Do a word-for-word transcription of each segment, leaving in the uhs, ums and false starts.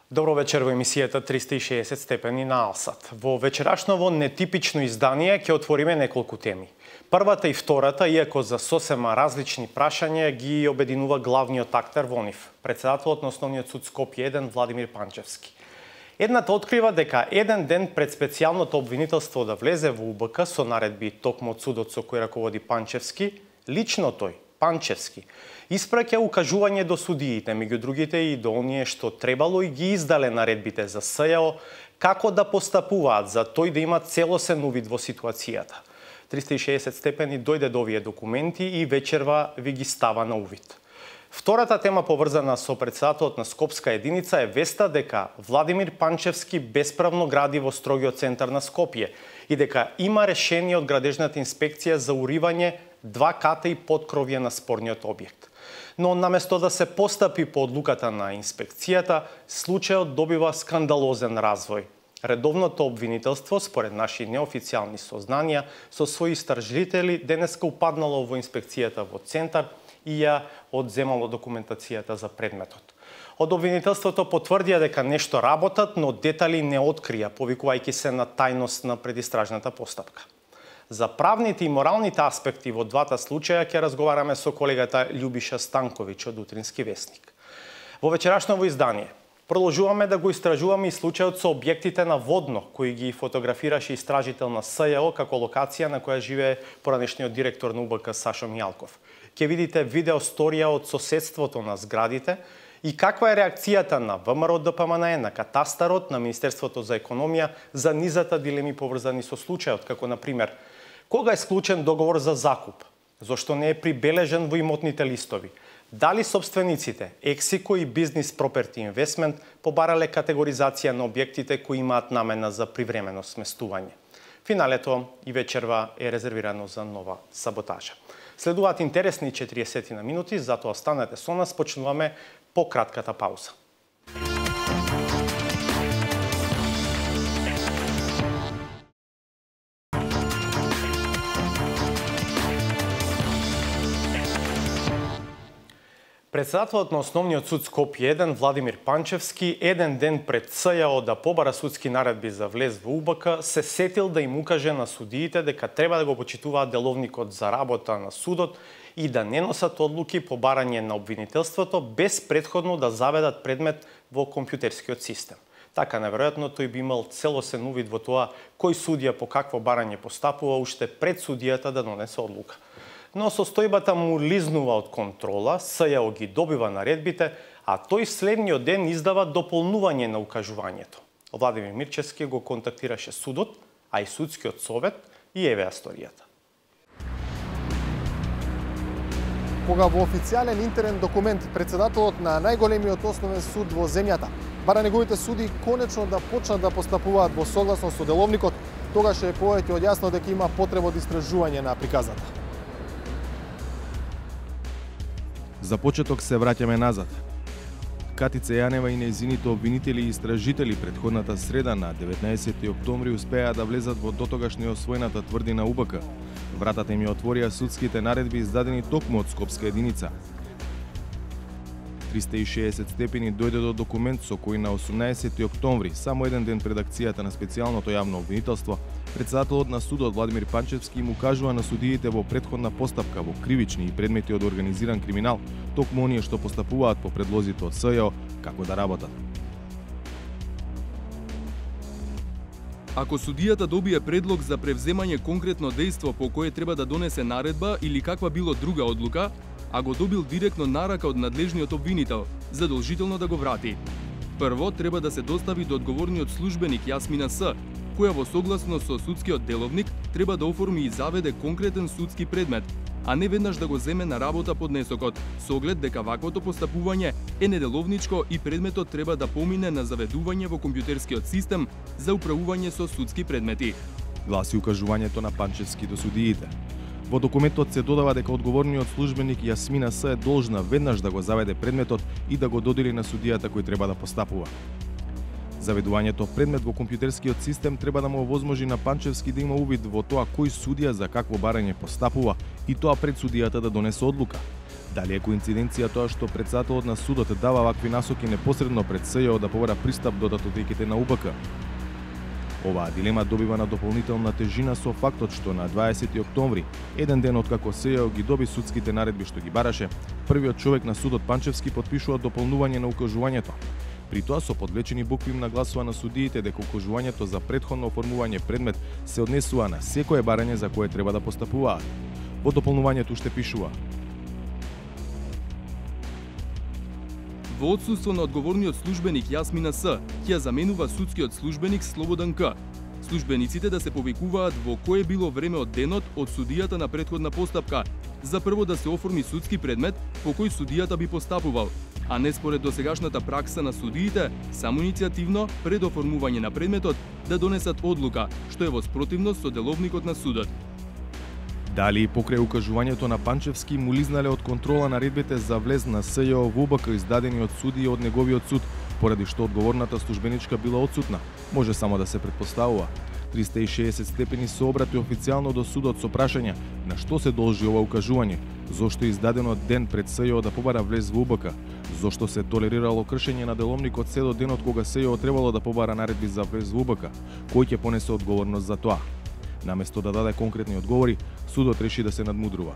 Добро вечер во емисијата триста и шеесет степени на Алсат. Во вечерашново нетипично издание ќе отвориме неколку теми. Првата и втората, иако за сосема различни прашања, ги обединува главниот актер во нив, председателот на Основниот суд Скопје еден Владимир Панчевски. Едната открива дека еден ден пред специјалното обвинителство да влезе во У Б К со наредби токму од судот со кој раководи Панчевски, лично тој, Панчевски, испраќа укажување до судиите, меѓу другите и до оние што требало и ги издале наредбите за С Ј О, како да постапуваат за тој да има целосен увид во ситуацијата. триста и шеесет степени дојде до овие документи и вечерва ви ги става на увид. Втората тема поврзана со председателот на Скопска единица е веста дека Владимир Панчевски бесправно гради во строгиот центар на Скопје и дека има решение од градежната инспекција за уривање два ката и подкровје на спорниот објект. Но наместо да се постапи по одлуката на инспекцијата, случајот добива скандалозен развој. Редовното обвинителство, според наши неофицијални сознанија, со своји истражители денеска упаднало во инспекцијата во центар и ја одземало документацијата за предметот. Од обвинителството потврдија дека нешто работат, но детали не открија, повикувајќи се на тајност на предистражната постапка. За правните и моралните аспекти во двата случаја ќе разговараме со колегата Љубиша Станковиќ од Утрински вестник. Во вечерашново издание продолжуваме да го истражуваме и случајот со објектите на Водно, кои ги фотографираше истражител на С Ј О како локација на која живее поранешниот директор на У Б К Сашо Мијалков. Ќе видите видео сторија од соседството на зградите и каква е реакцијата на В М Р Д П М Н Е, на Катастарот, на Министерството за економија за низата дилеми поврзани со случајот, како на пример кога е склучен договор за закуп, зошто не е прибележен во имотните листови, дали собствениците Ексико и Бизнес Проперти Инвестмент побарале категоризација на објектите кои имаат намена за привремено сместување. Финалето и вечерва е резервирано за нова саботажа. Следуваат интересни четириесет на минути, затоа останете со нас, почнуваме по кратката пауза. Председателот на Основниот суд Скопје еден Владимир Панчевски еден ден пред С Ј О да побара судски наредби за влез во У Б К се сетил да им укаже на судиите дека треба да го почитуваат деловникот за работа на судот и да не носат одлуки по барање на обвинителството без претходно да заведат предмет во компјутерскиот систем. Така неверојатно тој би имал целосен увид во тоа кој судија по какво барање постапува уште пред судијата да донесе одлука. Но состојбата му лизнува од контрола, С Ј О ги добива наредбите, а тој следниот ден издава дополнување на укажувањето. Владимир Мирчевски го контактираше судот, а и судскиот совет, и еве историјата. Кога во официјален интерен документ председателот на најголемиот основен суд во земјата бара неговите суди конечно да почнат да постапуваат во согласно со деловникот, тогаш е повеќе од јасно дека има потреба од истражување на приказата. За почеток се враќаме назад. Катица Јанева и нејзините обвинители и истражители претходната среда на деветнаесети октомври успеа да влезат во дотогаш неосвоената тврдина У Б К. Вратата им ја отворија судските наредби издадени токму од Скопска единица. триста и шеесет степени дојде до документ со кој на осумнаесети октомври, само еден ден пред акцијата на специјалното јавно обвинителство, председателот на судот Владимир Панчевски им укажува на судиите во претходна постапка во кривични и предмети од организиран криминал, токму оние што постапуваат по предлозите од С Ј О, како да работат. Ако судијата добие предлог за превземање конкретно дејство по кое треба да донесе наредба или каква било друга одлука, а го добил директно нарака од надлежниот обвинител, задолжително да го врати. Прво треба да се достави до одговорниот службеник Јасмина С, која во согласно со судскиот деловник треба да оформи и заведе конкретен судски предмет, а не веднаш да го земе на работа поднесокот, со оглед дека ваквото постапување е неделовничко и предметот треба да помине на заведување во компјутерскиот систем за управување со судски предмети. Гласи укажувањето на Панчевски до судиите. Во документот се додава дека одговорниот службеник Јасмина С е должна веднаш да го заведе предметот и да го додели на судијата кој треба да постапува. Заведувањето предмет во компјутерскиот систем треба да му овозможи на Панчевски да има увид во тоа кој судија за какво барање постапува и тоа пред судијата да донесе одлука. Дали е коинциденција тоа што претседателот на судот дава вакви насоки непосредно пред СЈО да побара пристап до датотеките на У Б К? Оваа дилема добива на дополнителна тежина со фактот што на дваесети октомври, еден ден откако СЈО ги доби судските наредби што ги бараше, првиот човек на судот Панчевски потпишува дополнување на укажувањето. При тоа со подвлечени букви им нагласува на судиите дека укажувањето за претходно оформување предмет се однесува на секое барање за кое треба да постапуваат. Во дополнувањето уште пишува: во отсуство на одговорниот службеник Јасмина С, ќе заменува судскиот службеник Слободан К. Службениците да се повикуваат во кое било време од денот од судијата на претходна постапка, за прво да се оформи судски предмет по кој судијата би постапувал, а не според досегашната пракса на судиите, само иницијативно, пред оформување на предметот, да донесат одлука, што е во спротивност со деловникот на судот. Дали и покрај укажувањето на Панчевски му лизнале од контрола наредбите за влез на СЈО во У Б К издадени од судија од неговиот суд, поради што одговорната службеничка била отсутна, може само да се претпоставува. триста и шеесет степени се обрати официјално до судот со прашање на што се должи ова укажување, зошто е издадено ден пред СЈО да побара влез во У Б К, зошто се толерирало кршење на деловникот се до денот кога СЈО требало да побара наредби за влез во У Б К, кој ќе понесе одговорност за тоа. Наместо да даде конкретни одговори, судот реши да се надмудрува.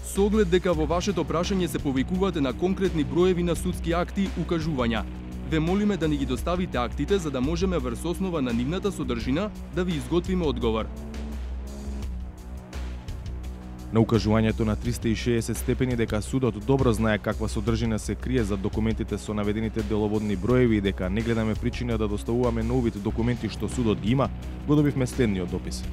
Со оглед дека во вашето прашање се повикувате на конкретни броеви на судски акти, укажувања, ве молиме да ни ги доставите актите за да можеме врз основа на нивната содржина да ви изготвиме одговор. На укажувањето на триста и шеесет степени дека судот добро знае каква содржина се крие за документите со наведените деловодни броеви и дека не гледаме причина да доставуваме новите документи што судот ги има, го добивме следниот допис.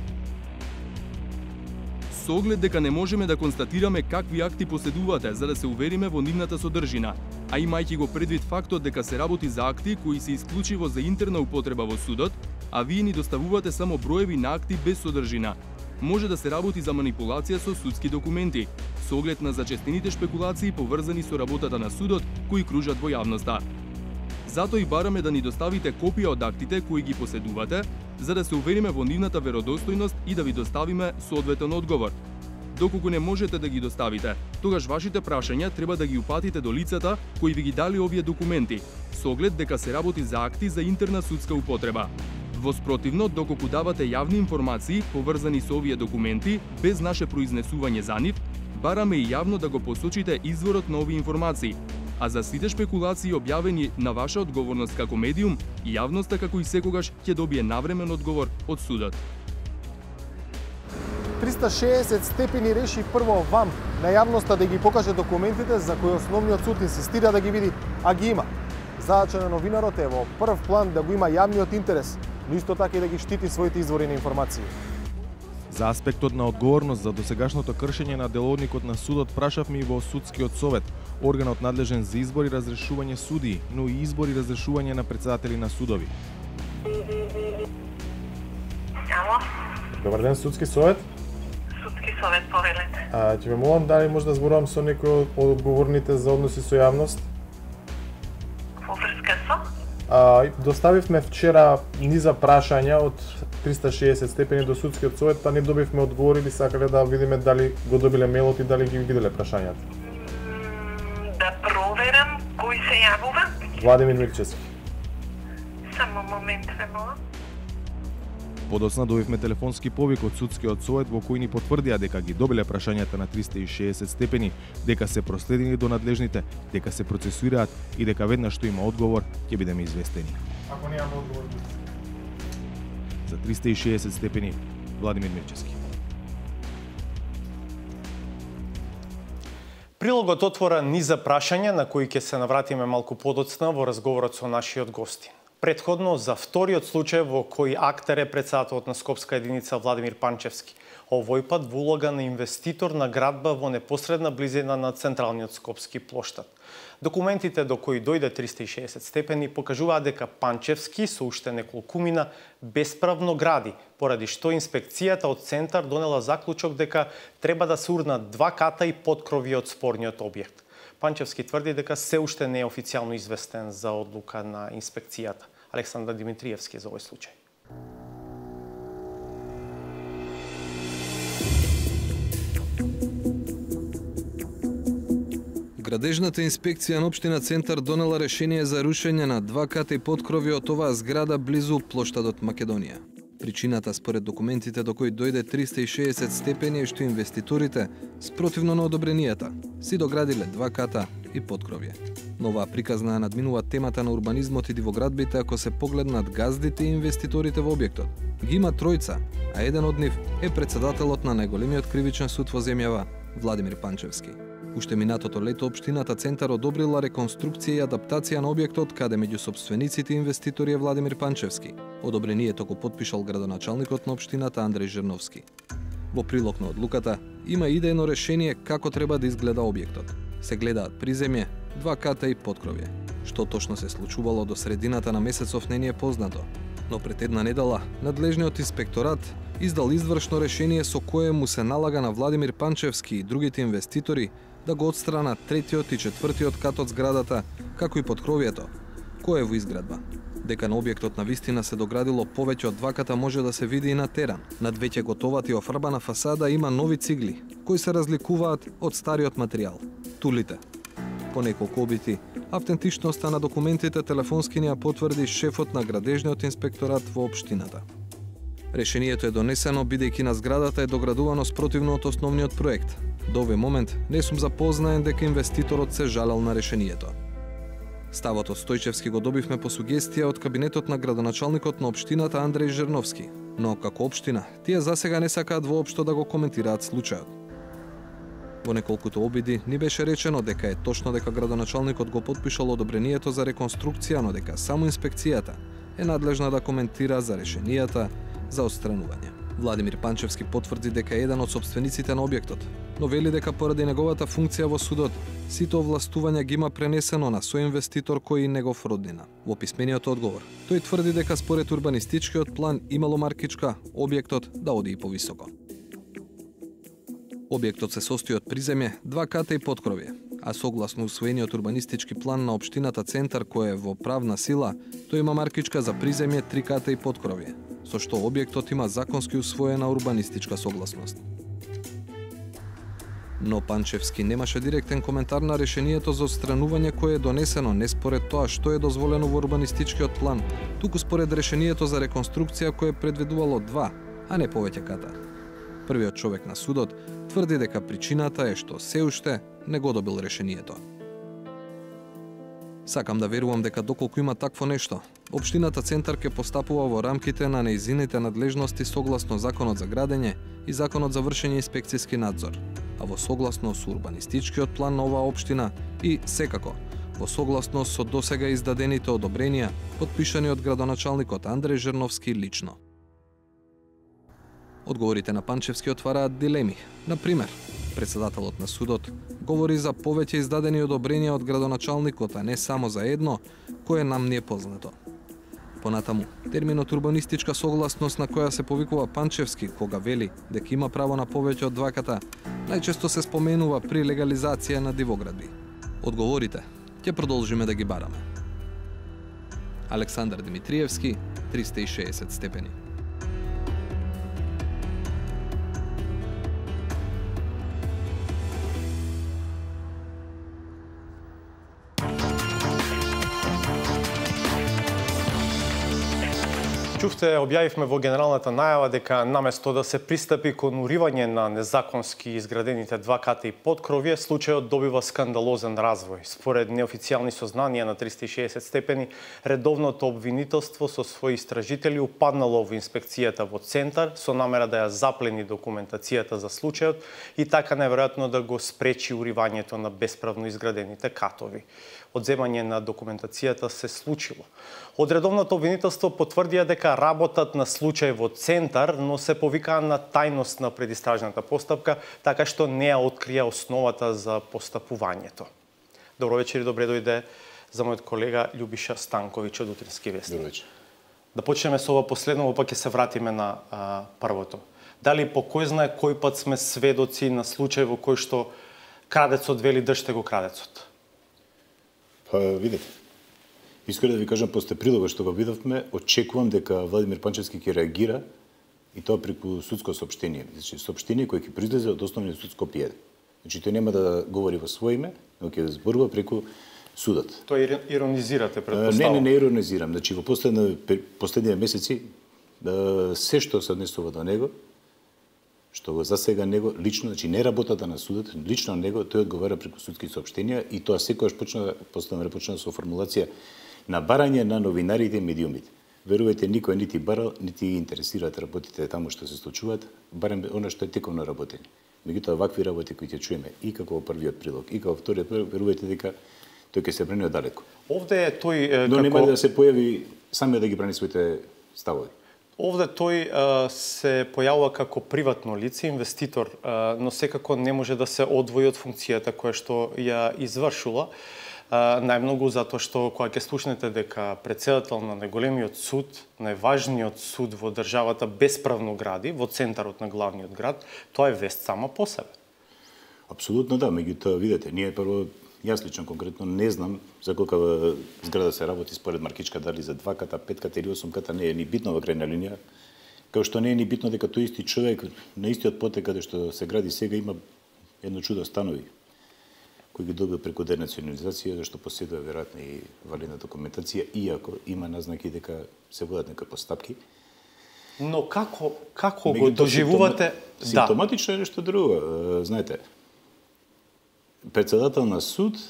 Со оглед дека не можеме да констатираме какви акти поседувате за да се увериме во нивната содржина, а имајќи го предвид фактот дека се работи за акти кои се исклучиво за интерна употреба во судот, а вие ни доставувате само броеви на акти без содржина, може да се работи за манипулација со судски документи, со оглед на зачестените шпекулации поврзани со работата на судот кои кружат во јавноста. Затоа и бараме да ни доставите копија од актите кои ги поседувате, за да се увериме во нивната веродостојност и да ви доставиме соодветен одговор. Доколку не можете да ги доставите, тогаш вашите прашања треба да ги упатите до лицата кои ви ги дали овие документи, со оглед дека се работи за акти за интерна судска употреба. Во спротивно, доколку давате јавни информации поврзани со овие документи, без наше произнесување за нив, бараме и јавно да го посочите изворот на овие информации. А за сите шпекулации објавени на ваша одговорност како медиум, јавноста како и секогаш ќе добие навремен одговор од судот. триста и шеесет степени реши прво вам, на јавноста, да ги покаже документите за кои основниот суд инсистира да ги види, а ги има. Задача на новинарот е во прв план да го има јавниот интерес, но исто така и да ги штити своите извори на информации. За аспектот на одговорност за досегашното кршење на деловникот на судот прашавме и во Судскиот совет, органот надлежен за избор и разрешување судии, но и избор и разрешување на претседатели на судови. Ало? Добар ден, Судски совет. Судски совет, повелете. А, ќе ме молам дали може да зборувам со некој од одговорните за односи со јавност? Во врска со? А, доставивме вчера низа прашања од триста и шеесет степени до Судскиот совет, па не добивме одговори, би сакале да видиме дали го добиле мејлот и дали ги виделе прашањата. Да проверам кој се јавува? Владимир Мирчевски. Само момент, ве молам. Подоцна добивме телефонски повик од Судскиот совет во кој ни потврдија дека ги добиле прашањата на триста и шеесет степени, дека се проследени до надлежните, дека се процесуираат и дека веднаш што има одговор ќе бидеме известени. Ако немаме одговор, за триста и шеесет степени, Владимир Мирчевски. Прилогот отвора низа прашања на кои ќе се навратиме малку подоцна во разговорот со нашиот гости. Предходно за вториот случај во кој актер е претседателот на Скопска единица Владимир Панчевски. Овој пат во улога на инвеститор на градба во непосредна близина на централниот скопски плоштад. Документите до кои дојде триста и шеесет степени покажуваат дека Панчевски со уште неколкумина бесправно гради, поради што инспекцијата од центар донела заклучок дека треба да се урнат два ката и поткрови од спорниот објект. Панчевски тврди дека се уште не е официјално известен за одлука на инспекцијата. Александар Димитриевски за овој случај. Thank you. Градежната инспекција на општина Центар донела решение за рушење на два ката и подкрови од оваа зграда близу плоштадот Македонија. Причината според документите до кои дојде триста и шеесет степени е што инвеститорите, спротивно на одобренијата, си доградиле два ката и подкровје. Но оваа приказна надминува темата на урбанизмот и дивоградбите ако се погледнат газдите и инвеститорите во објектот. Ги има тројца, а еден од нив е председателот на најголемиот кривичен суд во земјава, Владимир Панчевски. Уште минатото лето општината Центар одобрила реконструкција и адаптација на објектот каде меѓу сопствениците и инвеститори е Владимир Панчевски. Одобрението го потпишал градоначалникот на општината Андреј Жерновски. Во прилог на одлуката има идејно решение како треба да изгледа објектот. Се гледаат приземје, два ката и подкровје. Што точно се случувало до средината на месецов не ни е познато, но пред една недела надлежниот инспекторат издал извршно решение со кое му се налага на Владимир Панчевски и другите инвеститори да го отстранат третиот и четвртиот кат од зградата, како и подкровјето, кое е во изградба. Дека на објектот на вистина се доградило повеќе од два ката може да се види и на терен. Над веќе готовата и офрбана фасада има нови цигли, кои се разликуваат од стариот материјал – тулите. По неколку обити, автентичноста на документите телефонски ни ја потврди шефот на градежниот инспекторат во општината. Решението е донесено бидејќи на зградата е доградувано спротивно од основниот проект. До овој момент не сум запознаен дека инвеститорот се жалел на решението. Ставот од Стојчевски го добивме по сугестија од кабинетот на градоначалникот на општината Андреј Жерновски, но како општина тие засега не сакаат воопшто да го коментираат случајот. Во неколкуто обиди ни беше речено дека е точно дека градоначалникот го потпишал одобрението за реконструкција, но дека само инспекцијата е надлежна да коментира за решенијата за отстранување. Владимир Панчевски потврди дека е еден од сопствениците на објектот, но вели дека поради неговата функција во судот, сите овластувања ги има пренесено на соинвеститор кој и негов роднина. Во писмениот одговор, тој тврди дека според урбанистичкиот план имало маркичка објектот да оди и повисоко. Објектот се состои од приземје, два ката и подкровје, а согласно усвоениот урбанистички план на општината Центар кој е во правна сила, тој има маркичка за приземје, три ката и подкровје, со што објектот има законски усвоена урбанистичка согласност. Но Панчевски немаше директен коментар на решението за отстранување кое е донесено не според тоа што е дозволено во урбанистичкиот план, туку според решението за реконструкција кое предвидувало два, а не повеќе ката. Првиот човек на судот тврди дека причината е што се уште не го добил решението. Сакам да верувам дека доколку има такво нешто, општината Центар ќе постапува во рамките на нејзините надлежности согласно Законот за градење и Законот за вршење инспекцијски надзор, а во согласност со урбанистичкиот план на оваа општина и, секако, во согласност со досега издадените одобренија, потпишани од градоначалникот Андреј Жерновски лично. Одговорите на Панчевски отвараат дилеми. Например, председателот на судот говори за повеќе издадени одобренија од градоначалникот, а не само за едно, кое нам не е познато. Понатаму, терминот урбанистичка согласност на која се повикува Панчевски кога вели дека има право на повеќе од два ката, најчесто се споменува при легализација на дивоградби. Одговорите ќе продолжиме да ги бараме. Александар Димитриевски, триста и шеесет степени. Чувте, објавивме во генералната најава дека наместо да се пристапи кон уривање на незаконски изградените два ката и подкровје, случајот добива скандалозен развој. Според неофицијални сознанија на триста и шеесет степени, редовното обвинителство со своји истражители упаднало во инспекцијата во Центар со намера да ја заплени документацијата за случајот и така неверојатно да го спречи уривањето на бесправно изградените катови. Одземање на документацијата се случило. Од редовното обвинителство потврдија дека работат на случај во Центар, но се повикаа на тајност на предистражната постапка, така што не ја открија основата за постапувањето. Добро вечер и добре дојде за мојот колега Љубиша Станковиќ од Утрински вестник. Добро вечер. Да почнеме со ова последно, па ќе се вратиме на а, првото. Дали по кој знае кој пат сме сведоци на случај во кој што крадецот вели држте го крадецот? Па, видите. Искрено да ви кажам, после прилога што го видовме, очекувам дека Владимир Панчевски ќе реагира и тоа преку судско соопштение. Значи, соопштение кое ќе произлезе од основниот суд Скопје еден. Значи тој нема да говори во свое име, но ќе зборува преку судот. Тој иронизирате, предпоставам? Не, не, не иронизирам. Значи во последни последни месеци се што се однесува до него, што го засега него лично, значи не работата на судот, лично него, тој одговара преку судски соопштенија и тоа секогаш почна, после почна со формулација на барање на новинарите и медиумите. Верувајте, никој нити барал, нити интересираат работите таму што се случуваат, барем она што е тековно работење. Меѓутоа, вакви работи кои ќе чуеме и како во првиот прилог, и како во вториот прилог, верувајте дека тој ќе се брани оддалеку. Овде е тој е, Но како... нема да се појави сами да ги брани своите ставови. Овде тој а, се појавува како приватно лице, инвеститор, а, но секако не може да се одвои од функцијата која што ја извршила. А, најмногу затоа што кога ќе слушнете дека председател на најголемиот суд, најважниот суд во државата бесправно гради во центарот на главниот град, тоа е вест сама по себе. Апсолутно да, меѓутоа видете, ние прво јас лично конкретно не знам за колка зграда се работи според Маркичка, дали за два ката, пет ката или осум ката, не е ни битно во крајна линија. Као што не е ни битно дека тој исти човек на истиот потек каде што се гради сега има едно чудо станови кои ги добил преку денационализација, зашто поседува веројатно и валидна документација, иако има назнаки дека се водат некои постапки. Но како како го доживувате? Симптоматично е нешто друго. Знаете, председател на суд,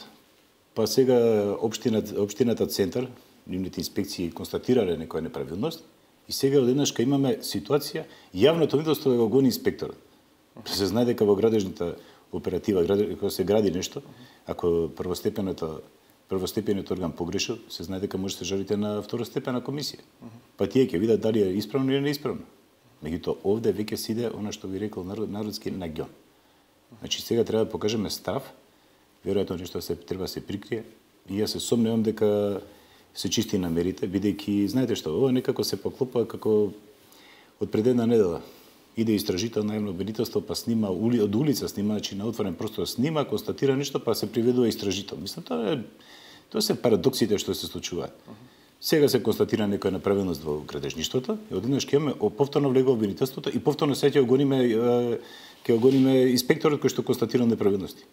па сега општината, општината центар, нивните инспекции констатирале некоја неправилност, и сега одеднаш кога имаме ситуација, јавното виделство да го гони инспекторот. Се знае дека во градежната оператива, кога се гради нешто, ако првостепеното првостепениот орган погрешил, се знае дека може да се жалите на второстепена комисија. Па тие ќе видат дали е исправно или неисправно. Меѓутоа овде веќе се иде она што ви рекол народ, народски наѓон. Значи сега треба да покажеме став, веројатно нешто се треба да се прикрие, и јас се сомневам дека се чисти намерите, бидејќи знаете што, ова некако се поклопува како од пред една недела. Иде истражител на јавно обвинителство, па снима од улица, снима, значи на отворен простор снима, констатира нешто, па се приведува истражител. Мислам, тоа е тоа се парадоксите што се случуваат. Сега се констатира некоја неправилност во градежништвото, и одеднаш ќе имаме повторно влегува обвинителството и повторно се ќе го гониме ќе го гониме инспекторот кој што констатира неправилности.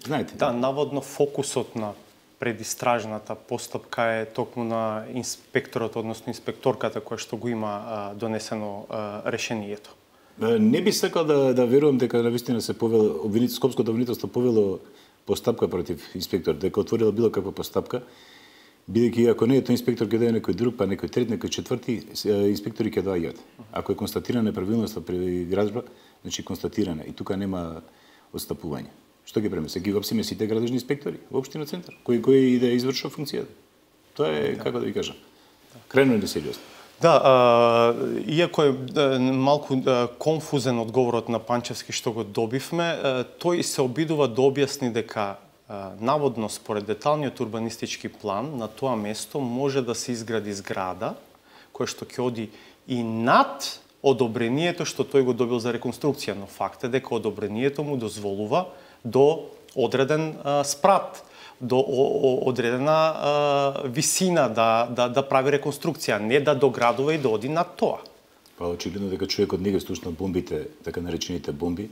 Знаете? Да, наводно фокусот на предистражната постапка е токму на инспекторот, односно инспекторката која што го има а, донесено а, решението. Не би сакал да да верувам дека навистина се повело обвинител Скопското обвинителство повело постапка против инспектор, дека отворила било каква постапка, бидејќи ако не е тој инспектор ќе даде некој друг, па некој трет, некој четврти, инспектори ќе доаѓаат. Ако е констатирана неправилност при градежба, значи констатирана и тука нема отстапување. Што ги преме? Се ги опсиме сите градежни инспектори во општина центар, кои кои и да извршува функцијата. Тоа е, да. Како да ви кажам, крајно несериозно. Да, а, иако е а, малку а, конфузен одговорот на Панчевски што го добивме, а, тој се обидува да објасни дека а, наводно според деталниот урбанистички план на тоа место може да се изгради зграда која што ќе оди и над одобрението што тој го добил за реконструкција, но факт е дека одобрението му дозволува до одреден а, спрат, до о, о, одредена а, висина да, да, да прави реконструкција, не да доградува и да оди над тоа. Па очигледно дека човекот не ги слушна бомбите, така наречените бомби,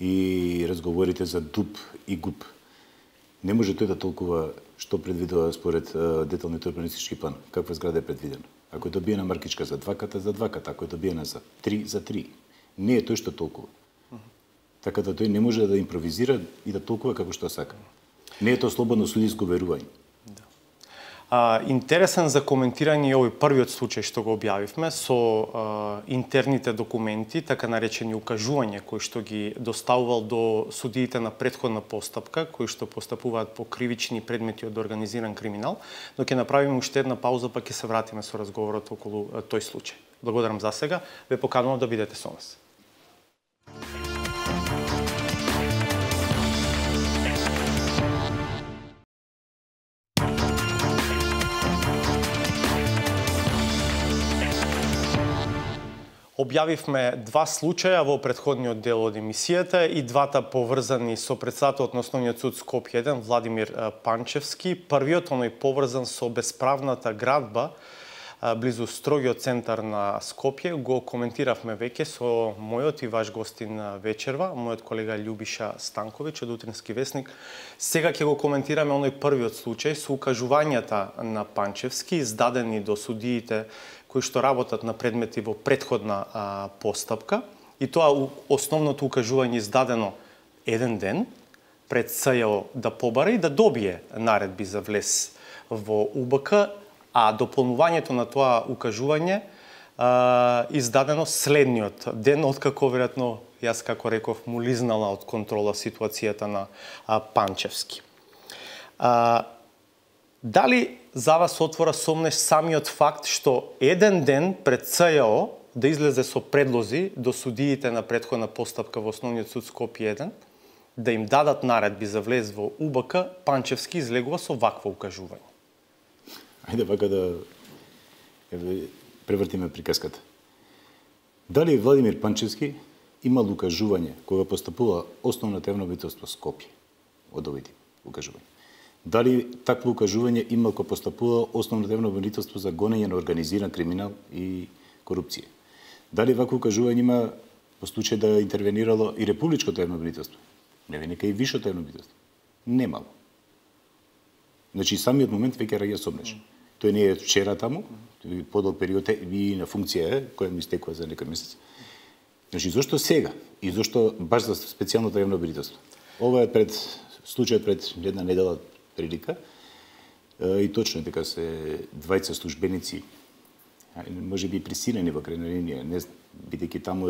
и разговорите за дуб и губ. Не може тој да толкува што предвидува според а, деталниот урбанистички план, каква зграда е предвидена. Ако е добиена Маркичка за два ката, за два ката, ако е добиена за три, за три. Не е тој што толкува. Така да тој не може да импровизира и да толкува како што сака. Не е тоа слободно судиско верување. Да. А, интересен за коментирање е овој првиот случај што го објавивме со а, интерните документи, така наречени укажувања кои што ги доставувал до судиите на претходна постапка, кои што постапуваат по кривични предмети од организиран криминал, но ќе направиме уште една пауза, па ќе се вратиме со разговорот околу а, тој случај. Благодарам за сега, ве поканувам да бидете со нас. Објавивме два случаја во претходниот дел од емисијата и двата поврзани со председателот на Основниот суд Скопје еден Владимир Панчевски. Првиот оној поврзан со бесправната градба близу строгиот центар на Скопје. Го коментиравме веќе со мојот и ваш гостин вечерва, мојот колега Љубиша Станковиќ од Утрински весник. Сега ќе го коментираме оној првиот случај со укажувањата на Панчевски, издадени до судиите кои што работат на предмети во претходна а, постапка. И тоа основното укажување издадено еден ден пред СЈО да побара и да добие наредби за влез во У Б К, а дополнувањето на тоа укажување а, издадено следниот ден, откако веројатно јас како реков му лизнала од контрола ситуацијата на а, Панчевски. А, дали за вас отвора сомнеш самиот факт што еден ден пред СЈО да излезе со предлози до судиите на претходна постапка во Основниот суд Скопје еден, да им дадат наредби за влез во У Б К, Панчевски излегува со вакво укажување? Ајде вака да превртиме приказката. Дали Владимир Панчевски имал укажување кога постапува Основното јавно обвинителство Скопје од овие укажувања? Дали такво укажување имал кога постапува Основното јавно обвинителство за гонење на организиран криминал и корупција? Дали вакво укажување има по случај да интервенирало и Републичкото јавно обвинителство? Не венека и Висшето јавно обвинителство? Немало. Значи самиот момент веќе раѓа сомнеш. Тој не е вчера таму, подолг период и на функција е, која му истекува за некој месец. Значи зошто сега и зошто баш за специјалното јавно обвинителство? Ова е пред случајот пред една недела прилика и точно е дека се двајца службеници, може би присилени во крајна линија, не бидејќи таму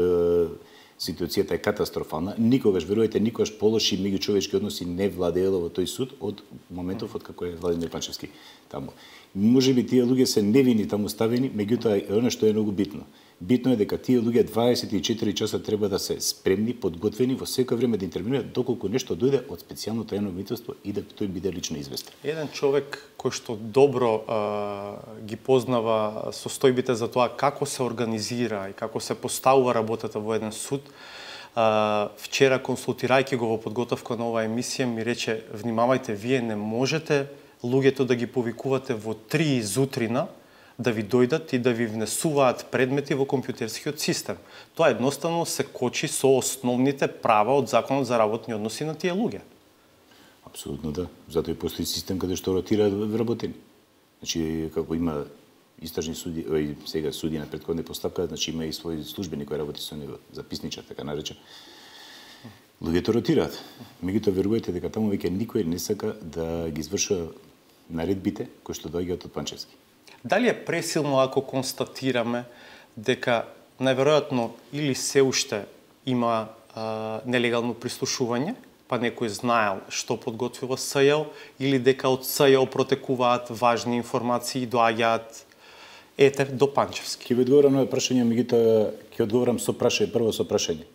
ситуацијата е катастрофална. Никогаш, верувате, никогаш полоши меѓучовечки односи не владеело во тој суд од моментов од како е Владимир Панчевски таму. Може би тие луѓе се невини таму ставени, меѓутоа она што е многу битно. Битно е дека тие луѓе дваесет и четири часа треба да се спремни, подготвени во секој време да интервенираат доколку нешто дојде од специјалното јавно обвинителство и да тој биде лично известен. Еден човек кој што добро а, ги познава состојбите за тоа како се организира и како се поставува работата во еден суд, а, вчера консултирајќи го во подготовка на оваа емисија ми рече: внимавајте, вие не можете луѓето да ги повикувате во три изутрина да ви дојдат и да ви внесуваат предмети во компјутерскиот систем. Тоа едноставно се кочи со основните права од Законот за работни односи на тие луѓе. Апсолутно да. Затоа и постои систем каде што ротираат вработени. Значи, како има истражни суди, и сега суди на претходна постапка, значи има и свој службени кој работи со него, записничар, така наречен. Луѓето ротираат. Меѓутоа верувајте дека таму веќе никој не сака да ги извршува наредбите кои што доаѓаат од Панчевски. Дали е пресилно ако констатираме дека најверојатно или се уште има а, нелегално прислушување, па некој знаел што подготвува СЈО, или дека од СЈО протекуваат важни информации и доаѓаат ете до Панчевски? Ќе ви одговорам на прашање, меѓутоа ќе одговорам со прашање, прво со прашање.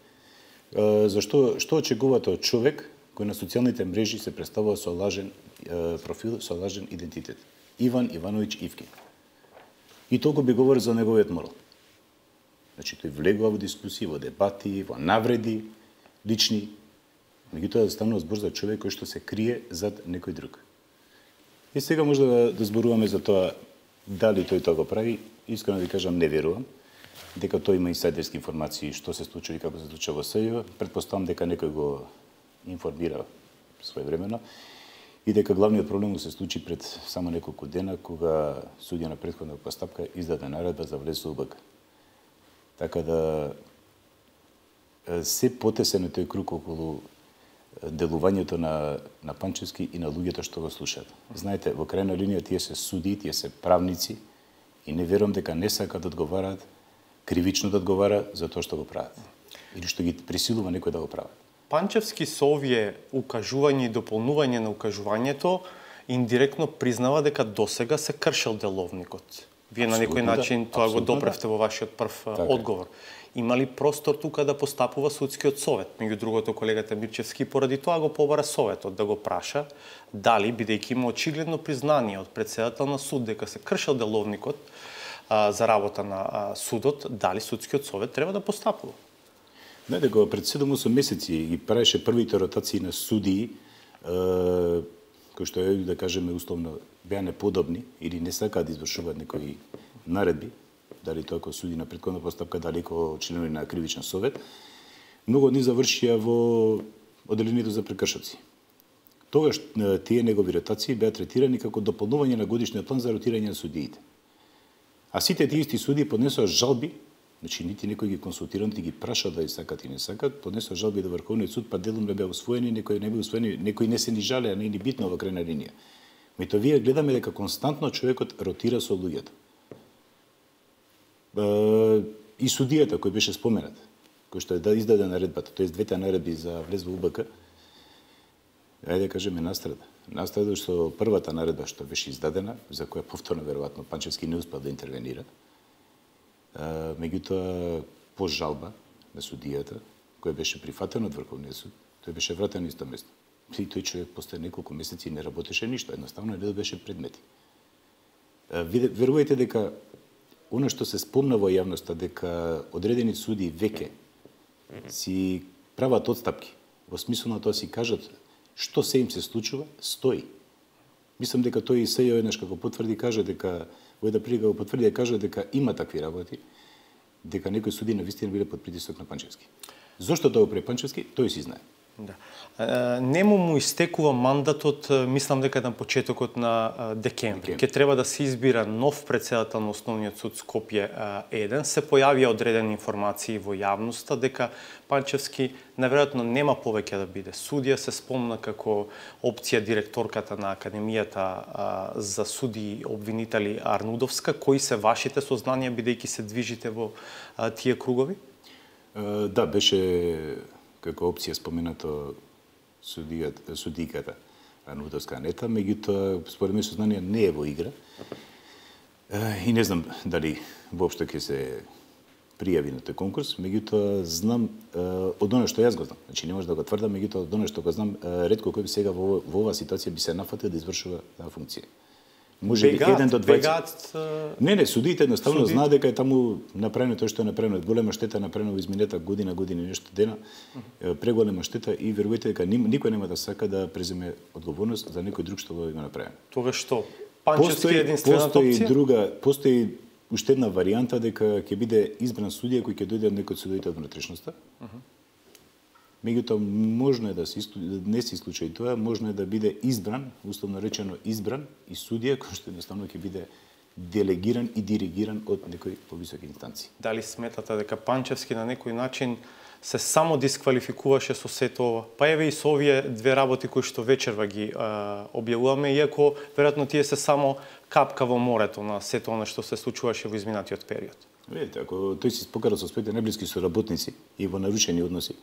А, зашто што очекувате од човек кој на социјалните мрежи се представува со лажен а, профил, со лажен идентитет? Иван Ивановиќ Ивки. И толку би говори за неговиот морал. Значи, тој влегува во дискусии, во дебати, во навреди, лични. Меѓутоа, станува збор за човек кој што се крие зад некој друг. И сега може да, да зборуваме за тоа дали тој тоа го прави. Искрено да ви кажам, не верувам. Дека тој има инсайдерски информации што се случува и како се случува во СЈО. Предпоставам дека некој го информира своевремено. И дека главниот проблем се случи пред само неколку дена, кога судија на претходна постапка издаде наредба за влез во У Б К. Така да се потесен е тој круг околу делувањето на, на Панчевски и на луѓето што го слушаат. Знаете, во крајна линија тие се суди, тие се правници и не верувам дека не сакаат да одговараат, кривично да одговара за тоа што го прават. Или што ги присилува некој да го прават. Панчевски со овие укажување и дополнување на укажувањето индиректно признава дека досега се кршел деловникот. Вие абсолютно, на некој начин да, тоа го допревте да. Во вашиот прв така. Одговор. Има ли простор тука да постапува судскиот совет? Меѓу другото, колегата Мирчевски поради тоа го побара советот да го праша дали, бидејќи има очигледно признание од претседател на суд дека се кршел деловникот а, за работа на а, судот, дали судскиот совет треба да постапува? Не, дека пред седум-осум месеци ги правеше првите ротации на судии, е, кои што, да кажеме, условно, беа неподобни или не сакаат да извршуваат некои наредби, дали тоа како суди на претходна постапка, дали како членови на кривичен совет, многу од нив завршија во одделението за прекршоци. Тогаш тие негови ротации беа третирани како дополнување на годишниот план за ротирање на судиите. А сите тие исти суди поднесоа жалби, значи нити некој ги консултира, нити ги праша дали сакат и не сакат, поднесоа жалби до Врховниот суд, па делом не беа усвоени, некои не беа усвоени, некои не се ни жалеа, не е ни битно во крајна линија. Меѓутоа вие гледаме дека константно човекот ротира со луѓето. И судијата кој беше споменат, кој што е да издаде наредбата, тоест двете наредби за влез во УБК, ајде да кажеме настрада. Настрада што првата наредба што беше издадена, за која повторно веројатно Панчевски не успел да интервенира, меѓутоа по жалба на судијата, која беше прифатена од Врховниот суд, тој беше вратен на исто место. И тој човек после неколку месеци не работеше ништо, едноставно не добеше предмети. Верувајте дека она што се спомна во јавноста дека одредени суди веќе си прават отстапки, во смисла на тоа си кажат што се им се случува, стои. Мислам дека тој и сеја еднаш како потврди каже дека во една прилика го потврди и каже дека има такви работи, дека некои суди навистина биле под притисок на Панчевски. Зошто тоа го прави Панчевски, тој си знае. Да. Нему му истекува мандатот, мислам дека на почетокот на декември. Ке треба да се избира нов претседател на Основниот суд Скопје еден. Се појавија одредени информации во јавноста дека Панчевски наверојатно нема повеќе да биде судија. Се спомна како опција директорката на Академијата за суди обвинители Арнудовска. Кои се вашите сознанија бидејќи се движите во тие кругови? Да, беше како опција споменато судијата, судиката Арнудовска Анета, меѓутоа според мене сознание не е во игра. И не знам дали воопшто ќе се пријави на тој конкурс, меѓутоа знам од оно што јас го знам. Значи не може да го тврдам, меѓутоа од оно што го знам, ретко кој би сега во, во оваа ситуација би се нафатил да извршува таа функција. Може би еден до дваесет. Не, не, судиите едноставно суди... знаат дека е таму направено тоа што е направено. Голема штета направено во изминета година, година и нешто дена. Uh -huh. Преголема штета и верувајте дека никој нема да сака да преземе одговорност за некој друг што го има направено. Тогаш што? Панчевски е единствената опција? Постои друга, постои уште една варијанта дека ќе биде избран судија кој ќе дојде од некој од судиите од внатрешноста. Uh -huh. Меѓутоа можно е да се не се случај тоа, можно е да биде избран, условно речено избран и судија кој што едноставно ќе биде делегиран и диригиран од некој повисоки инстанции. Дали сметате дека Панчевски на некој начин се само дисквалификуваше со сето ова? Па еве и со овие две работи кои што вечерва ги а, објавуваме, иако веројатно тие се само капка во морето на сето она што се случуваше во изминатиот период. Видите, ако тој си покара со своите најблиски соработници и во нарушени односи,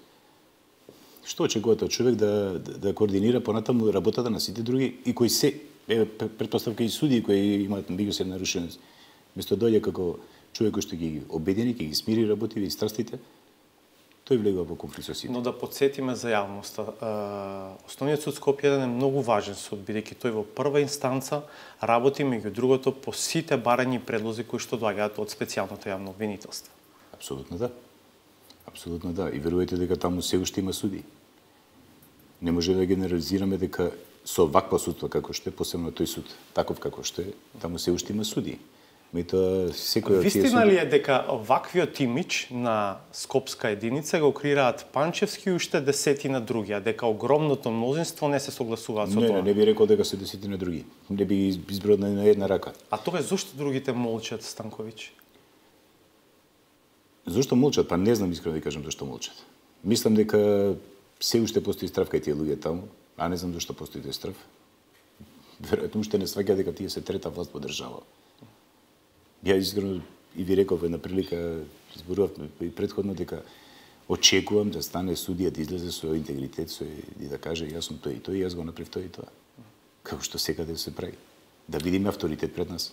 што очекувате од човек да, да, да координира понатаму работата на сите други и кои се, е, предпоставка и судии кои имаат меѓусебни нарушености. Место дојде како човек кој што ги обедини, ќе ги смири работите и страстите, тој влегува во конфликт со сите. Но да подсетиме за јавноста, Основниот суд Скопје еден е многу важен суд, бидејќи тој во прва инстанца работи меѓу другото по сите барања и предлози кои што доаѓаат од специјалното јавно обвинителство. Апсолутно да. Апсолутно да. И верувајте дека таму се уште има суди. Не може да генерализираме дека со ваква судство како што е, посебно тој суд, таков како што е, таму се уште има суди. Меѓутоа секој од тие суди... Вистина ли е дека ваквиот имидж на скопска единица го креираат Панчевски и уште десетина други, а дека огромното мнозинство не се согласуваат со не, тоа? Не, не би рекол дека се десетина други. Не би изброил на една рака. А тоа зошто другите молчат, Станковиќ? Зошто молчат? Па не знам искрено да кажам зошто молчат. Мислам дека се уште постои страв кај тие луѓе таму, а не знам зошто постои тој страв. Веројатно уште не сваќа дека тие се трета власт во држава. Ја искрено и ви реков една прилика, зборував и претходно дека очекувам да стане судија да излезе со интегритет, со и да каже јас сум тој и тој, јас го направив тој и тоа. Како што секаде се прави. Да видиме авторитет пред нас.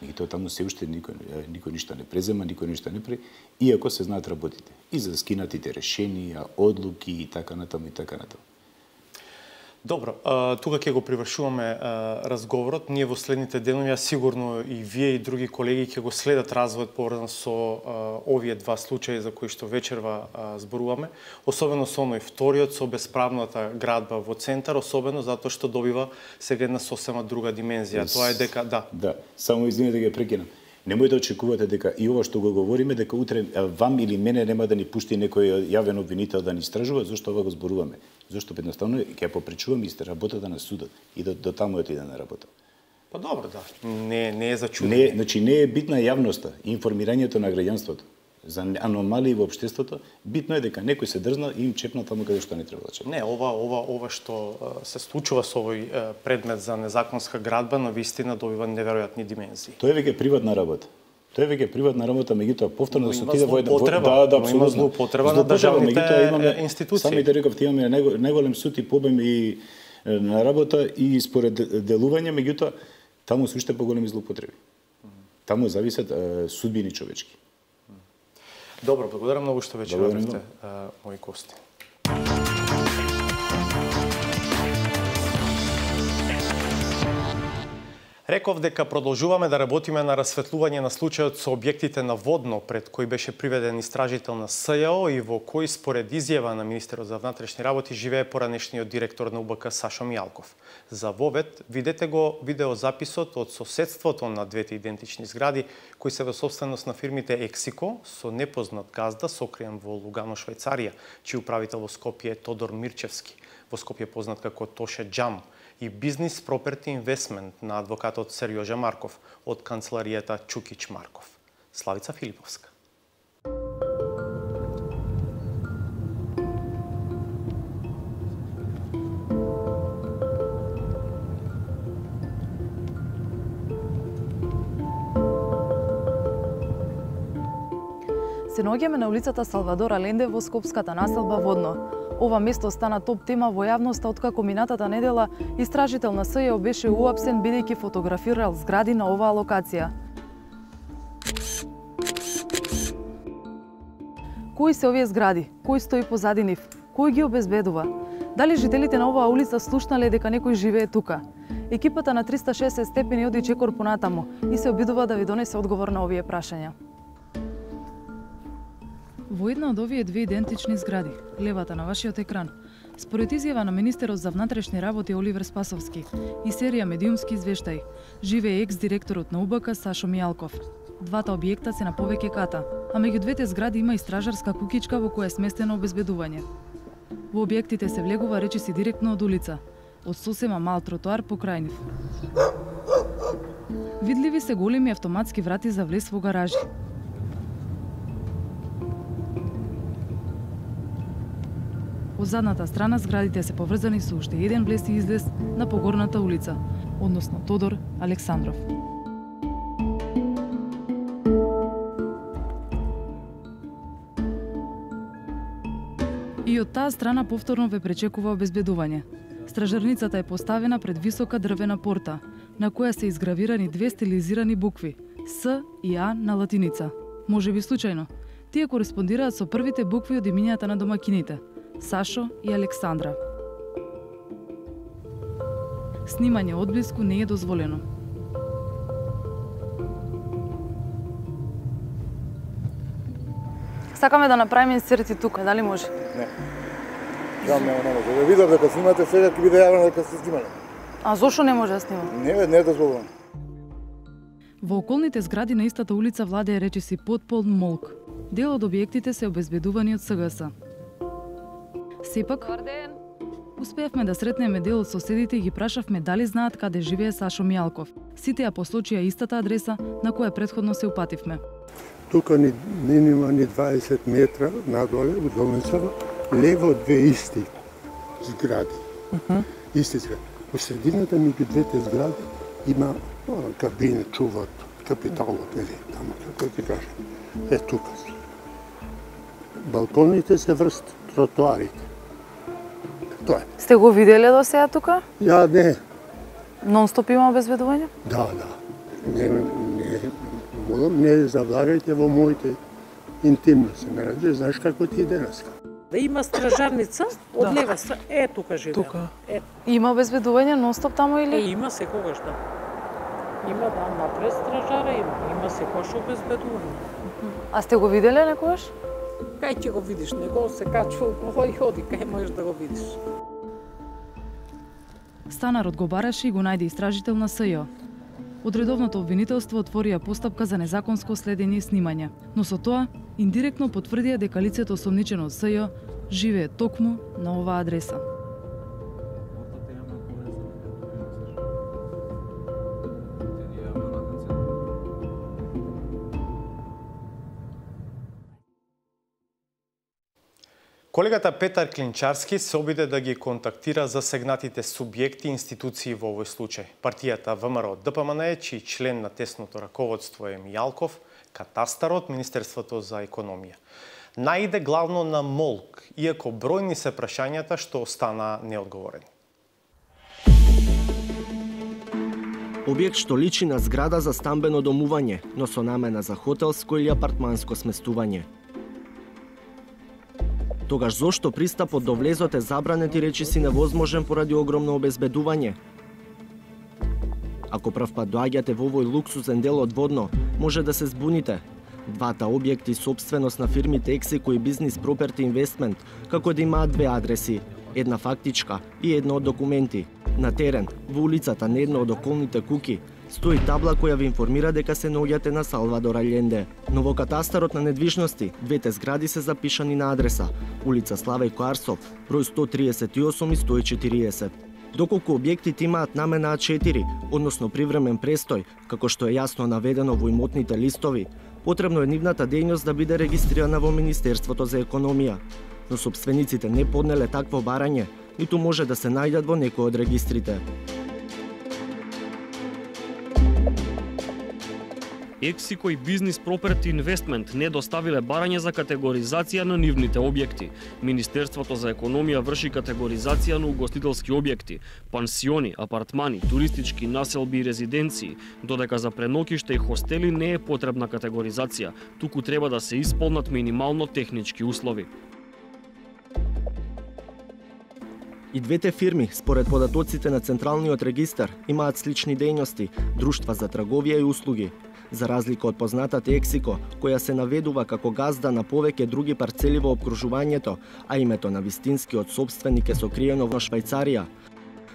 И тоа таму се уште никој, никој ништо не презема, никој ништо не прави, иако се знаат работите. И за скинатите решенија, одлуки и така натаму и така натаму. Добро, тука ќе го привршуваме разговорот. Ние во следните денови, сигурно и вие и други колеги ќе го следат развојот поврзан со овие два случаи за кои што вечерва зборуваме, особено со оној вториот, со бесправната градба во центар, особено затоа што добива сега една сосема друга димензија. Тоа е дека да. Да, само извинете да ги прекинам. Немој да очекувате дека и ова што го говориме, дека утре вам или мене нема да ни пушти некој јавен обвинител да ни истражува, зашто ова го зборуваме? Зашто едноставно ќе попречуваме исто работата на судот и до, до таму отиде на работа. Па добро, да. Не, не е за чудење. Не, значи не е битна јавноста, информирањето на граѓанството за аномалии во општеството. Битно е дека некој се дрзна и им чепна таму каде што не треба да чепна. Не, ова ова ова што се случува со овој предмет за незаконска градба на вистина добива неверојатни димензии. Тоа е веќе приватна работа. Тоа е веќе приватна работа, меѓутоа повторно да се отиде во едно да, да, има злоупотреба на државните институции. Самите реков имаме најголем суд и побем и на работа и според делување, меѓутоа таму се уште поголеми злоупотреби. Таму зависат судбини човечки. Добро, благодарам многу што вечера бевте мои гости. Реков дека продолжуваме да работиме на расветлување на случајот со објектите на Водно, пред кој беше приведен истражител на СЈО и во кој според изјава на министерот за внатрешни работи живее поранешниот директор на У Б К Сашо Мијалков. За вовед видете го видеозаписот од соседството на двете идентични згради кои се во собственост на фирмите Ексико со непознат газда сокриен во Лугано, Швајцарија, чиј управител во Скопје е Тодор Мирчевски, во Скопје познат како Тоше Џам, и Бизнес Property Investment на адвокатот Серјожа Марков од канцеларијата Чукич Марков. Славица Филиповска. Се наоѓаме на улицата Салвадор Аленде во скопската населба Водно. Ова место стана топ тема во јавноста откако минатата недела истражител на СЈО беше уапсен бидејќи фотографирал згради на оваа локација. Кои се овие згради? Кој стои позади нив? Кој ги обезбедува? Дали жителите на оваа улица слушнале дека некој живее тука? Екипата на триста и шесет степени оди чекор понатаму и се обидува да ви донесе одговор на овие прашања. Во една од овие две идентични згради, левата на вашиот екран, според изјава на министерот за внатрешни работи Оливер Спасовски и серија медиумски извештаи, живее екс-директорот на У Б К Сашо Мијалков. Двата објекта се на повеќе ката, а меѓу двете згради има и стражарска кукичка во која е сместено обезбедување. Во објектите се влегува речиси директно од улица, од сосема мал тротоар покрај нив. Видливи се големи автоматски врати за влез во гаражи. Од задната страна зградите се поврзани со уште еден влез и излез на погорната улица, односно Тодор Александров. И од таа страна повторно ве пречекува обезбедување. Стражарницата е поставена пред висока дрвена порта, на која се изгравирани две стилизирани букви С и А на латиница. Може би случајно, тие кореспондираат со првите букви од имињата на домакините Сашо и Александра. Снимање одблиску не е дозволено. Сакаме да направиме инсерти тука, дали може? Не. Жал нема, не може. Ве видов дека снимате сега, ќе биде јавно дека сте снимале. А зошто не може да снимам? Не, не е дозволено. Во околните згради на истата улица владее речиси потполн молк. Дел од објектите се обезбедувани од С Г С. Сепак, успеавме да сретнеме дел од соседите и ги прашавме дали знаат каде живее Сашо Мијалков. Сите ја посочија истата адреса на која претходно се упативме. Тука ни нема ни дваесет метра надоле од домицава, лево две исти згради. Uh -huh. Исти згради. Во средината меѓу двете згради има кабина, чуваат капиталот, или таму, како ти кажам. Е тука. Балконите се врз тротоарите. Тоа е. Сте го виделе до сега тука? Ја не. Нон-стоп има обезбедување? Да, да. Не, не, молам, не завлагајте во моите интимности. Не ради, знаеш како ти е денеска. Да има стражарница, од да. Лева са, е тука живее. Тука. Е. Има обезбедување нон-стоп таму или? Е, има секогаш да. Има да, напред стражара има, има секогаш обезбедување. А сте го виделе некогаш? Кај ќе го видиш, него се качва и ходи, кај можеш да го видиш. Станарот го бараше и го најде истражител на С Ј О. од редовното обвинителство отворија постапка за незаконско следење и снимање, но со тоа индиректно потврдија дека лицето осомничено од СЈ живее токму на оваа адреса. Колегата Петар Клинчарски се обиде да ги контактира засегнатите субјекти и институции во овој случај. Партијата ВМРО Д П М Н, чиј член на тесното раководство е Мијалков, катастарот, Министерството за економија. Наиде главно на молк, иако бројни се прашањата што остана неодговорени. Објект што личи на зграда за стамбено домување, но со намена за хотелско или апартманско сместување. Тогаш зошто пристапот до влезот е забранет и речиси невозможен поради огромно обезбедување? Ако прв пат доаѓате во овој луксузен дел од Водно, може да се збуните. Двата објекти собственост на фирмите Ексико и Бизнис Проперти Инвестмент, како да имаат две адреси, една фактичка и една од документи. На терен, во улицата на една од околните куки, стои табла која ви информира дека се наоѓате на Салвадор Алленде. Но во катастарот на недвижности, двете згради се запишани на адреса улица Славејко Арсов, број сто триесет и осум и сто и четириесет. Доколку објектите имаат намена А четири, односно привремен престој, како што е јасно наведено во имотните листови, потребно е нивната дејност да биде регистрирана во Министерството за економија. Но сопствениците не поднеле такво барање, ниту може да се најдат во некој од регистрите. Ексико и Бизнис Проперти Инвестмент не доставиле барање за категоризација на нивните објекти. Министерството за економија врши категоризација на угостителски објекти, пансиони, апартмани, туристички населби и резиденции, додека за пренокиште и хостели не е потребна категоризација, туку треба да се исполнат минимално технички услови. И двете фирми, според податоците на Централниот регистар, имаат слични дејности, друштва за трговија и услуги. За разлика од познатата Ексико, која се наведува како газда на повеќе други парцели во опкружувањето, а името на вистинскиот собственик е сокриено во Швајцарија,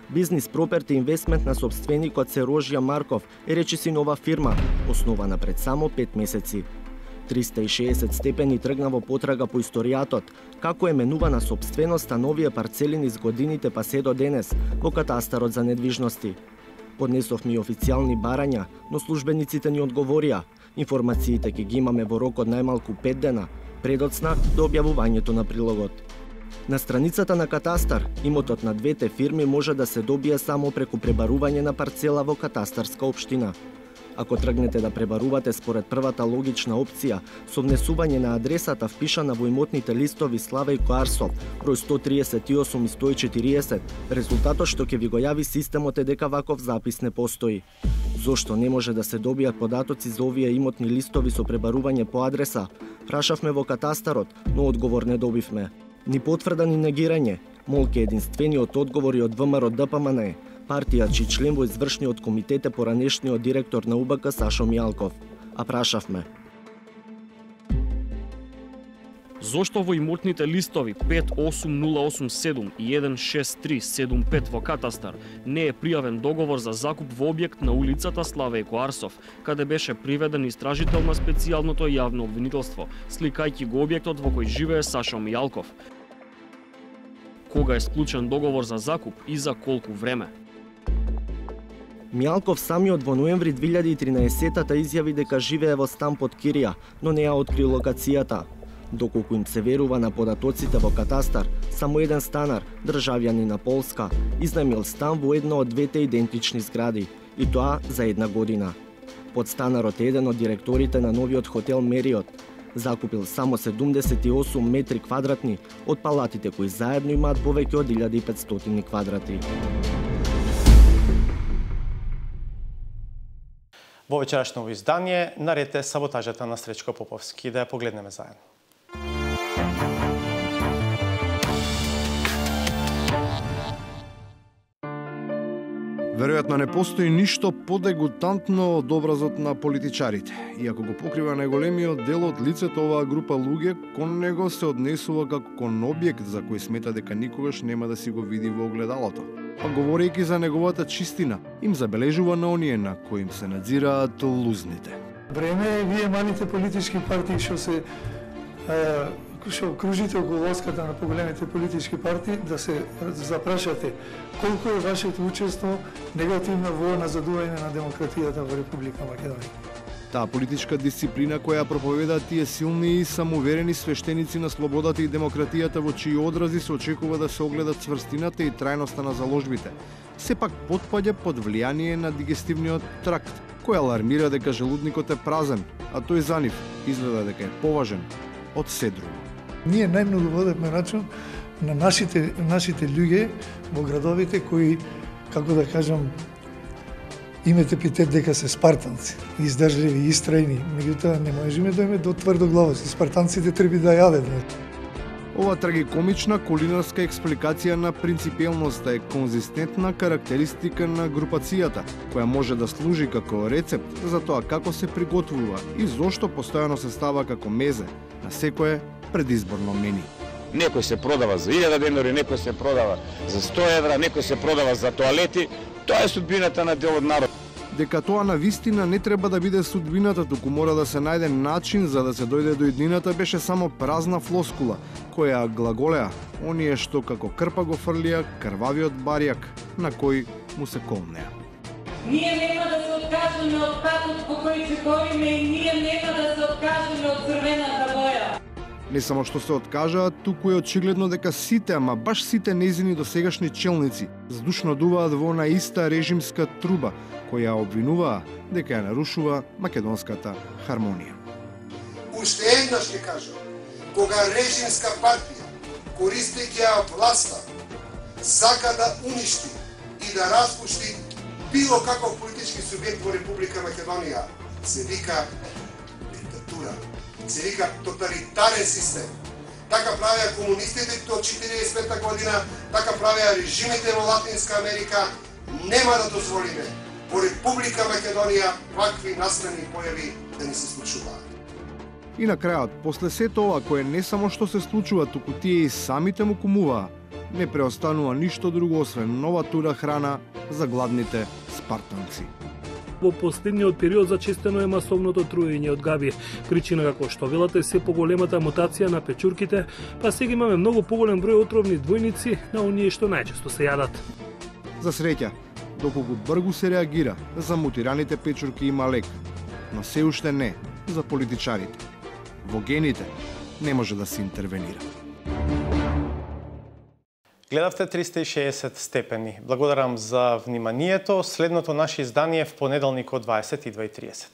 Бизнис Проперти Инвестмент на собственикот се Рожја Марков е речиси нова фирма, основана пред само пет месеци. триста и шеесет степени тргна во потрага по историјатот, како е менувана собственоста на овие парцели низ годините па се до денес во катастарот за недвижности. Поднесовме и официјални барања, но службениците ни одговорија. Информациите ќе ги имаме во рок од најмалку пет дена, предоцна до објавувањето на прилогот. На страницата на катастар, имотот на двете фирми може да се добие само преку пребарување на парцела во катастарска општина. Ако тргнете да пребарувате според првата логична опција, со внесување на адресата впишана во имотните листови Славејко Арсов, број сто триесет и осум и сто и четириесет, резултатот што ќе ви го јави системот е дека ваков запис не постои. Зошто не може да се добијат податоци за овие имотни листови со пребарување по адреса? Прашавме во катастарот, но одговор не добивме. Ни потврда ни негирање. Молк е единствениот одговор и од ВМРО Д П М Н, партија чиј член во извршниот комитет е поранешниот директор на У Б К Сашо Мијалков. А прашавме: зошто во имотните листови пет осум нула осум седум и еден шест три седум пет во катастар не е пријавен договор за закуп во објект на улицата Славејко Арсов, каде беше приведен истражител на специјалното јавно обвинителство, сликајќи го објектот во кој живее Сашо Мијалков? Кога е склучен договор за закуп и за колку време? Мијалков самиот во ноември две илјади и тринаесеттата изјави дека живее во стан под кирија, но не ја откри локацијата. Доколку им се верува на податоците во катастар, само еден станар, државјанин на Полска, изнаемил стан во една од двете идентични згради, и тоа за една година. Подстанарот е еден од директорите на новиот хотел Мериот. Закупил само седумдесет и осум метри квадратни од палатите кои заедно имаат повеќе од илјада и петстотини квадрати. Во вечерашно издание наред е саботажата на Сречко Поповски, да ја погледнеме заедно. Веројатно не постои ништо подегутантно од образот на политичарите. Иако го покрива најголемиот дел од лицето, оваа група луѓе кон него се однесува како кон објект за кој смета дека никогаш нема да си го види во огледалото. па говорејќи за неговата чистина, им забележува на оние на кои им се надзираат лузните. Време е вие малите политички партии што се што кружите околу лоската на поголемите политички партии да се запрашате колку е вашето учество негативно во назадување на демократијата во Република Македонија. Таа политичка дисциплина која проповедаат тие силни и самоуверени свештеници на слободата и демократијата во чии одрази се очекува да се огледа цврстината и трајноста на заложбите, сепак потпаѓа под влијание на дигестивниот тракт, кој алармира дека желудникот е празен, а тој за нив изгледа дека е поважен од се друго. Ние најмногу водевме рачун на нашите нашите луѓе во градовите кои, како да кажам, имате епитет дека се спартанци, издржливи и истрајни, меѓутоа не можеме да име до тврдоглавост. Спартанците треба да јават. Ова трагикомична кулинарска експликација на принципиелноста е конзистентна карактеристика на групацијата, која може да служи како рецепт за тоа како се приготвува и зошто постојано се става како мезе на секое предизборно мени. Некој се продава за илјада денари, некој се продава за сто евра, некој се продава за тоалети. Тоа е судбината на дел од народ. Дека тоа на вистина не треба да биде судбината, туку мора да се најде начин за да се дојде до иднината, беше само празна флоскула, која глаголеа оние што како крпа го фрлија крвавиот барјак на кој му се колнеа. Ние нема да се откажеме од патот по кој се бориме и ние нема да се откажеме од црвената боја. Не само што се откажаат, туку е очигледно дека сите, ама баш сите нејзини досегашни челници здушно дуваат во она иста режимска труба, која обвинуваа дека ја нарушува македонската хармонија. Уште еднаш ќе кажам, кога режимска партија, користејќи ја власта, сака да уништи и да распушти било каков политички субјект во Република Македонија, се вика диктатура. Се вика тоталитарен систем. Така правеа комунистите до четириесет и пета година, така правеа режимите во Латинска Америка. Нема да дозволиме во Република Македонија вакви насмени појави да ни се случуваат. И на крајот, после сето ова кое не само што се случува, туку тие и самите му кумуваа, не преостанува ништо друго освен нова тура храна за гладните спартанци. Во последниот период зачестено е масовното труење од габи. Причина, како што велате, е се поголемата мутација на печурките, па сега имаме многу поголем број отровни двојници на оние што најчесто се јадат. За среќа, доколку бргу се реагира, за мутираните печурки има лек, но се уште не за политичарите. Во гените не може да се интервенира. Гледавте триста и шеесет степени. Благодарам за вниманието. Следното наше издание в понеделник од дваесет и две и тридесет.